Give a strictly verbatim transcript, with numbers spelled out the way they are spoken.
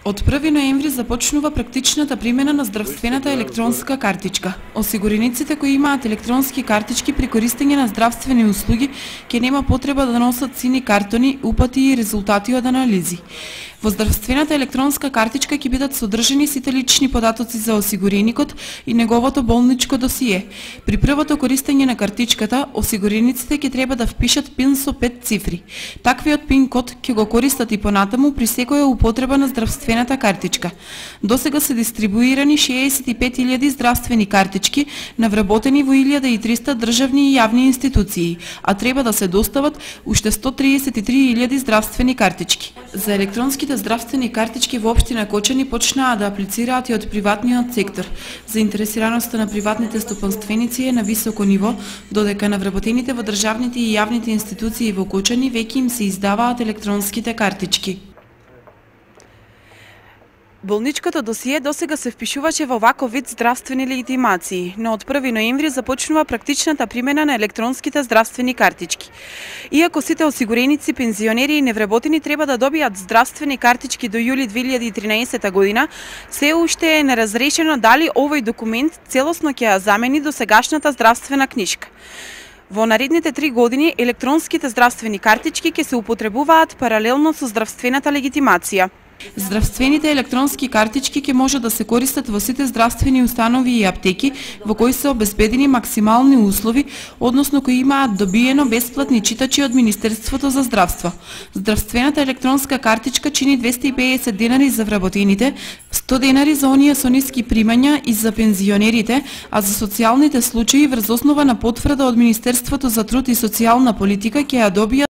Од први ноември започнува практичната примена на здравствената електронска картичка. Осигурениците кои имаат електронски картички при користење на здравствени услуги ќе нема потреба да носат сини картони, упати и резултати од анализи. Во здравствената електронска картичка ќе бидат содржани сите лични податоци за осигуреникот и неговото болничко досие. При првото користење на картичката, осигурениците ќе треба да впишат пин со пет цифри. Таквиот пин код ќе го користат и понатаму при секоја употреба на здравствената картичка. Досега се дистрибуирани шеесет и пет илјади здравствени картички, навработени во илјада и триста државни и јавни институции, а треба да се достават уште сто триесет и три илјади здравствени картички. За електронски здравствени картички во општина Кочани почнаа да аплицираат и од приватниот сектор. Заинтересираноста на приватните стопанственици е на високо ниво, додека навработените во државните и јавните институции во Кочани веќе им се издаваат електронските картички. Болничкото досие досега се впишуваше во ваков вид здравствени легитимации, но од први ноември започнува практичната примена на електронските здравствени картички. Иако сите осигуреници, пензионери и невработени треба да добијат здравствени картички до јули две илјади и тринаесета година, се уште е неразрешено дали овој документ целосно ќе ја замени досегашната здравствена книшка. Во наредните три години електронските здравствени картички ќе се употребуваат паралелно со здравствената легитимација. Здравствените електронски картички ќе може да се користат во сите здравствени установи и аптеки во кои се обезбедени максимални услови, односно кои имаат добиено бесплатни читачи од Министерството за здравство. Здравствената електронска картичка чини двесте и педесет денари за вработените, сто денари за оние со ниски примања и за пензионерите, а за социјалните случаи врз основа на потврда од Министерството за труд и социјална политика ќе ја добија